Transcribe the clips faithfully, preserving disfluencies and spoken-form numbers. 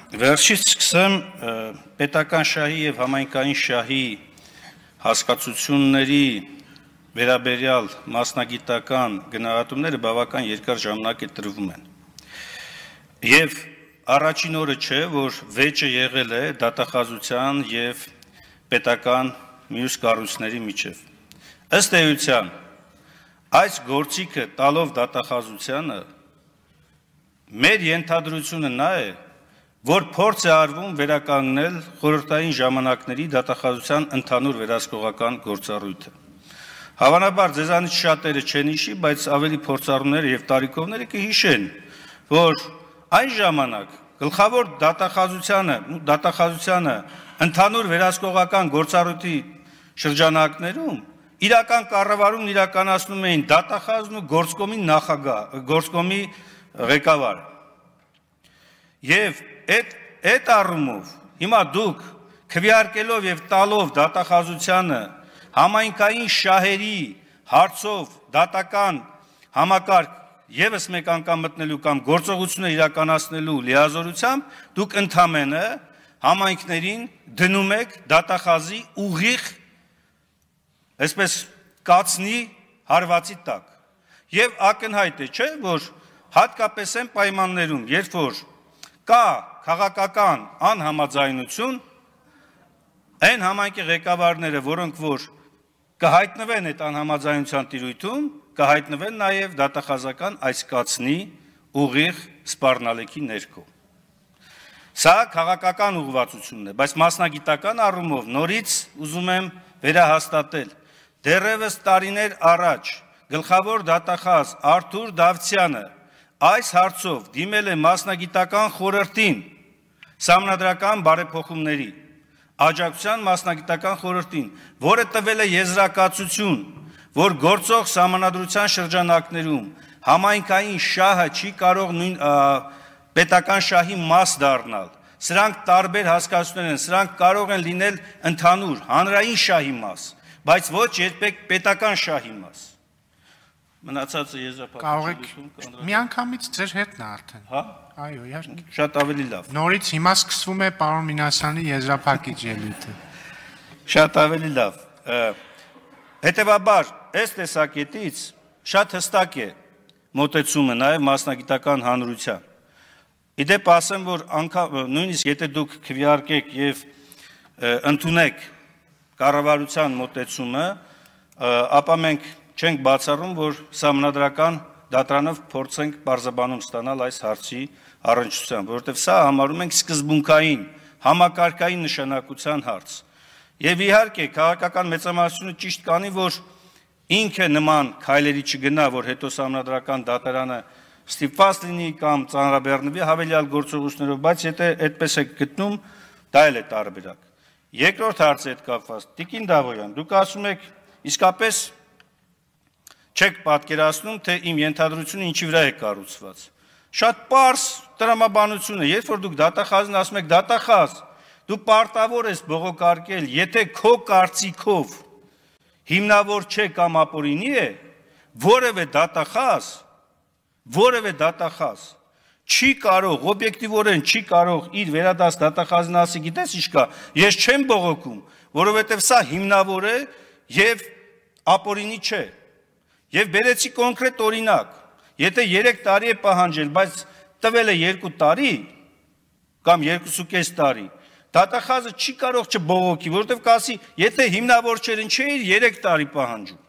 Վերջից սկսեմ պետական շահի եւ համայնքային շահի հասկացությունների վերաբերյալ մասնագիտական գնահատումները բավական երկար ժամանակ է տրվում են։ Եվ առաջին օրը չէ, որ վեճը եղել է դատախազության եւ պետական մյուս կառույցների միջև։ Ըստ էության, այս գործիքը տալով դատախազությանը մեր ենթադրությունը նա է, որ փորձ է արվում վերականգնել խորհրդային ժամանակների դատախազության ընդհանուր վերահսկողական գործառույթը։ Հավանաբար ձեզանից շատերը չեն հիշի, բայց ավելի փորձառուները եւ տարիքովները կհիշեն, որ այն ժամանակ գլխավոր դատախազությանը, դատախազությանը ընդհանուր վերահսկողական գործառույթի շրջանակներում իրական կառավարումն իրականացնում էին դատախազն ու գործկոմի նախագահ, գործկոմի ղեկավարը։ Եվ այդ այդ առումով հիմա դուք քվեարկելով եւ տալով դատախազությանը համայնքային շահերի հարցով դատական համակարգ եւս մեկ անգամ մտնելու կամ գործողությունը իրականացնելու լիազորությամբ դուք ընդամենը համայնքներին դնում եք դատախազի ուղիղ այսպես կացնի հարվածի տակ։ Եվ ակնհայտ է, չէ, որ հատկապես այն պայմաններում, երբ որ կա քաղաքական անհամաձայնություն, այն համայնքի ղեկավարները, որոնք որ կհայտնվեն այդ անհամաձայնության տիրույթում, կհայտնվեն նաև դատախազական այս կացնի ուղիղ սպառնալիքի ներքո։ Սա քաղաքական ուղղվածությունն է, բայց մասնագիտական առումով նորից ուզում եմ վերահաստատել, դեռևս տարիներ առաջ գլխավոր դատախազ Արթուր Դավթյանը այս հարցով դիմել է մասնագիտական խորհրդին, սահմանադրական բարեփոխումների աջակցության մասնագիտական խորհրդին, որը տվել է եզրակացություն, որ գործող սահմանադրության շրջանակներում համայնքային շահը չի կարող նույն պետական շահի մաս դառնալ։ Սրանք տարբեր հասկացություններ են, սրանք կարող են լինել ընդհանուր հանրային շահի մաս, բայց ոչ երբեք պետական շահի մաս։ Մնացածը եզրափակիչություն միանգամից ձեր հետն է արդեն։ Հա? Այո, իհարկե։ Շատ ավելի լավ։ Նորից հիմա սկսվում է պարոն Մինասյանի եզրափակիչ ելույթը։ Շատ ավելի լավ։ Հետևաբար, այս տեսակետից շատ հստակ է մոտեցումը նաև մասնագիտական հանրության։ Իդեպ ասեմ, որ անգամ նույնիսկ եթե դուք քվեարկեք եւ ընդունեք կառավարության մոտեցումը, ապա մենք չենք բացառում, որ սահմանադրական դատարանով փորձենք բարձրաբանում ստանալ այս հարցի առնչությամբ, որովհետև սա համարում ենք սկզբունքային, համակարգային նշանակության հարց։ Եվ իհարկե քաղաքական մեծամասնությունը ճիշտ կանի, որ ինքը նման քայլերի չգնա, որ հետո սահմանադրական դատարանը ստիպված լինի կամ ծանրաբեռնվի հավելյալ գործողություններով, բայց եթե այդպես է գտնում, դա էլ է տարբերակ։ Երկրորդ հարցը հետ կապված, Տիկին Դավոյան, դուք ասում եք, իսկապես չեք պատկերացնում, թե իմ ենթադրությունը ինչի վրա է կառուցված։ Շատ պարզ տրամաբանություն է, երբ որ դուք դատախազն ասում եք դատախազ, դու պարտավոր ես բողոքարկել, եթե քո կարծիքով հիմնավոր չէ կամ ապօրինի է, որևէ դատախազ, որևէ դատախազ չի կարող, օբյեկտիվորեն չի կարող իր վերադաս դատախազն ասի, գիտես ինչ կա, ես չեմ բողոքում, որովհետև սա հիմնավոր է եւ ապօրինի չէ։ Եվ բերեցի կոնկրետ օրինակ, եթե երեք տարի է պահանջել, բայց տվել է երկու տարի կամ երկուսուկես տարի, դատախազը չի կարող չբողոքի, որովհետև կասի, եթե հիմնավոր չէր, ինչ էր երեք տարի պահանջում։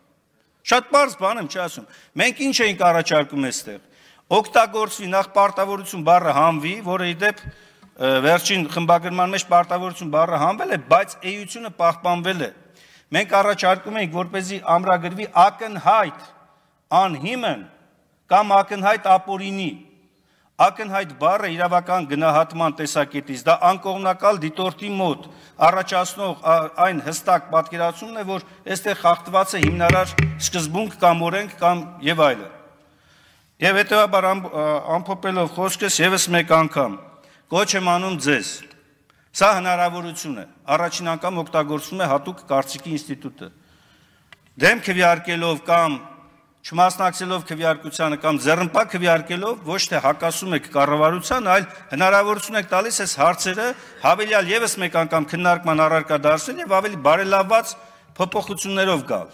Շատ պարզ բան եմ չասում։ Մենք ինչ էինք առաջարկում այստեղ։ Օգտագործվի նախ պարտավորություն բառը հանվի, որը իդեպ վերջին խմբագրման մեջ պարտավորություն բառը հանվել է, բայց էությունը պահպանվել է։ Մենք առաջարկում ենք, որպեսզի ամրագրվի ակնհայտ անհիմն կամ ակնհայտ ապօրինի։ Ակնհայտ բառը իրավական գնահատման տեսակետից դա անկողմնակալ դիտորդի մոտ առաջացնող այն հստակ պատկերացումն է, որ այստեղ խախտված է հիմնարար սկզբունք կամ օրենք կամ եւ այլն։ Եվ հետեւաբար ամփոփելով խոսքս եւս մեկ անգամ կոչ եմ անում ձեզ։ Սա հնարավորություն է։ Առաջին անգամ օգտագործվում է հատուկ կարծիքի ինստիտուտը։ Դեմ քվեարկելով կամ չմասնակցելով քվեարկությանը կամ ձեռնպա քվեարկելով ոչ թե հակասում եք կառավարության, այլ հնարավորություն եք տալիս այս հարցերը հավելյալ եւս մեկ անգամ քննարկման առարկա դարձնել եւ ավելի բարելավված փոփոխություններով գալ։